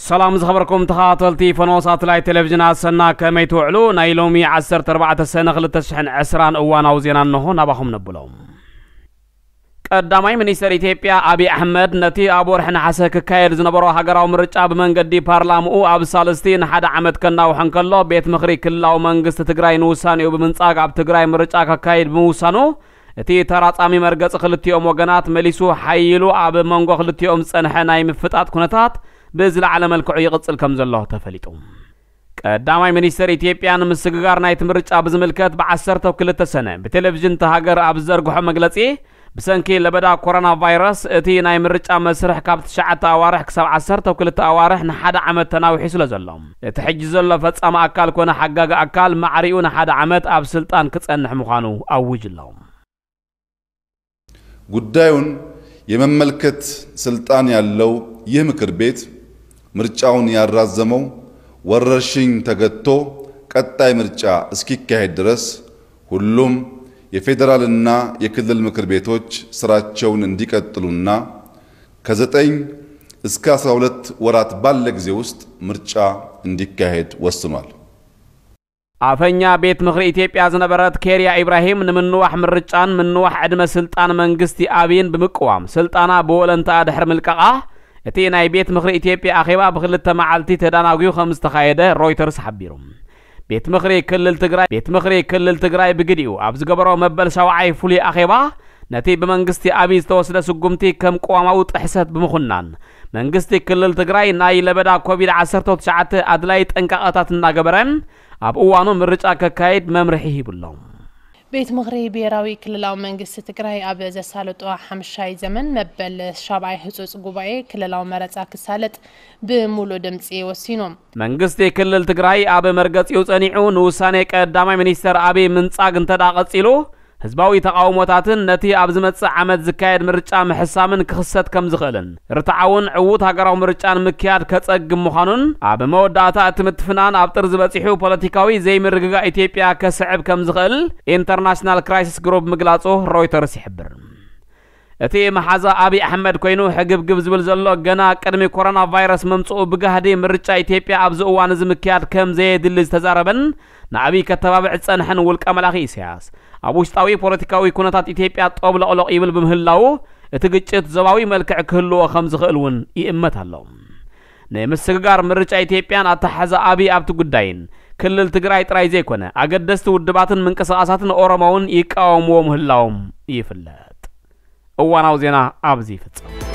ሰላም ዝኸበርኩም ተኸታተልቲ ፈኖ ሳተላይት ቴሌቪዥን ኣሰና፣ ከመይ ትውዕሉ? ናይ ሎሚ ዓሰርተ ኣርባዕተ ሰነ ክልተ ሽሕን ዕስራን እዋናዊ ዜና እንሆ ናባኹም ነብሎም። ቀዳማይ ሚኒስተር ኢትዮጵያ ኣብይ ኣሕመድ ነቲ ኣብ ወርሒ ነሓሰ ክካየድ ዝነበሮ ሃገራዊ ምርጫ ብመንገዲ ፓርላምኡ ኣብ ሳልስቲ ንሓደ ዓመት ከናውሖ እንከሎ፣ ቤት ምኽሪ ክልላዊ መንግስቲ ትግራይ ንውሳኔኡ ብምንጻግ ኣብ ትግራይ ምርጫ ከካይድ ብምውሳኑ፣ እቲ ተራጻሚ መርገጺ ክልቲኦም ወገናት መሊሱ ሓይሉ ኣብ መንጎ ክልቲኦም ዝጸንሐ ናይ ምፍጣጥ ኩነታት ብዝለዓለ መልክዑ ይቕጽል ከም ዘሎ ተፈሊጡ። ቀዳማይ ሚኒስተር ኢትዮጵያ ንምስግጋር ናይቲ ምርጫ ብዝምልከት ብዓሰርተ ክልተ ሰነ ብቴሌቪዥን እታ ሃገር ኣብ ዝዘርግሖ መግለጺ፣ ብሰንኪ ለበዳ ኮሮና ቫይረስ እቲ ናይ ምርጫ መስርሕ ካብ ትሽዓተ ኣዋርሕ ክሳብ ዓሰርተ ክልተ ኣዋርሕ ንሓደ ዓመት ተናዊሑ ስለ ዘሎ፣ እቲ ሕጂ ዘሎ ፈጻሚ ኣካል ኮነ ሓጋጊ ኣካል ማዕሪኡ ንሓደ ዓመት ኣብ ስልጣን ክጸንሕ ምዃኑ ኣውጅ ኣሎ። ጉዳዩን የመመልከት ስልጣን ያለው ይህ ምክር ቤት ምርጫውን ያራዘመው ወረርሽኝ ተገትቶ ቀጣይ ምርጫ እስኪካሄድ ድረስ ሁሉም የፌዴራልና የክልል ምክር ቤቶች ስራቸውን እንዲቀጥሉና ከዘጠኝ እስከ አስራ ሁለት ወራት ባለ ጊዜ ውስጥ ምርጫ እንዲካሄድ ወስኗል። ኣፈኛ ቤት ምኽሪ ኢትዮጵያ ዝነበረት ኬርያ ኢብራሂም ንምንዋሕ ምርጫን ምንዋሕ ዕድመ ስልጣን መንግስቲ ኣብይን ብምቅዋም ስልጣና ብወለንትኣ ድሕሪ ምልቃቓ፣ እቲ ናይ ቤት ምኽሪ ኢትዮጵያ ኣኼባ ብክልተ መዓልቲ ተዳናጉዩ ከም ዝተኻየደ ሮይተርስ ሓቢሩ። ቤት ምኽሪ ክልል ትግራይ ቤት ምኽሪ ክልል ትግራይ ብግዲኡ ኣብ ዝገበሮ መበል ሻውዓይ ፍሉይ ኣኼባ፣ ነቲ ብመንግስቲ ኣብይ ዝተወስደ ስጉምቲ ከም ቅዋማዊ ጥሕሰት ብምኹናን፣ መንግስቲ ክልል ትግራይ ናይ ለበዳ ኮቪድ ዓሰርተ ትሽዓተ ኣድላይ ጥንቃቐታት እናገበረ ኣብ እዋኑ ምርጫ ከካይድ መምርሒ ሂቡ ኣሎ። ቤት ምኽሪ ብሄራዊ ክልላዊ መንግስቲ ትግራይ ኣብ ዘሳለጦ ሓምሻይ ዘመን መበል ሻብዓይ ህፁፅ ጉባኤ ክልላዊ መረፃ ክሳለጥ ብምሉእ ድምፂ ወሲኑ። መንግስቲ ክልል ትግራይ ኣብ መርገፂኡ ፀኒዑ ንውሳኔ ቀዳማይ ሚኒስተር ኣብይ ምንፃግ እንተደኣ ቀፂሉ፣ ህዝባዊ ተቓውሞታትን ነቲ ኣብ ዝመጽእ ዓመት ዝካየድ ምርጫ ምሕሳምን ክኽሰት ከም ዝኽእልን፣ ርትዓውን ዕዉት ሃገራዊ ምርጫ ንምክያድ ከጸግም ምዃኑን፣ ኣብ መወዳእታ እቲ ምትፍናን ኣብ ጥርዚ በጺሑ ፖለቲካዊ ዘይምርግጋእ ኢትዮጵያ ከስዕብ ከም ዝኽእል ኢንተርናሽናል ክራይሲስ ግሩፕ ምግላጹ ሮይተርስ ይሕብር። እቲ መሓዛ ኣብይ ኣሕመድ ኮይኑ ሕግብግብ ዝብል ዘሎ፣ ገና ቅድሚ ኮሮና ቫይረስ ምምጽኡ ብጋህዲ ምርጫ ኢትዮጵያ ኣብዚ እዋን እዚ ምክያድ ከም ዘየድሊ ዝተዛረበን ንኣብይ ከተባብዕ ዝጸንሐን ውልቀ መላኺ ኢሳያስ፣ ኣብ ውሽጣዊ ፖለቲካዊ ኩነታት ኢትዮጵያ ጦብለቕሎቕ ይብል ብምህላዉ፣ እቲ ግጭት ዞባዊ መልክዕ ክህልዎ ከም ዝኽእል እውን ይእመት ኣሎ። ንምስግጋር ምርጫ ኢትዮጵያን ኣተሓሕዛ ኣብይ ኣብቲ ጉዳይን ክልል ትግራይ ጥራይ ዘይኮነ፣ ኣገደስቲ ውድባትን ምንቅስቓሳትን ኦሮሞ እውን ይቃወምዎ ምህላዎም ይፍለጥ። እዋናዊ ዜና ኣብዚ ይፍጸም።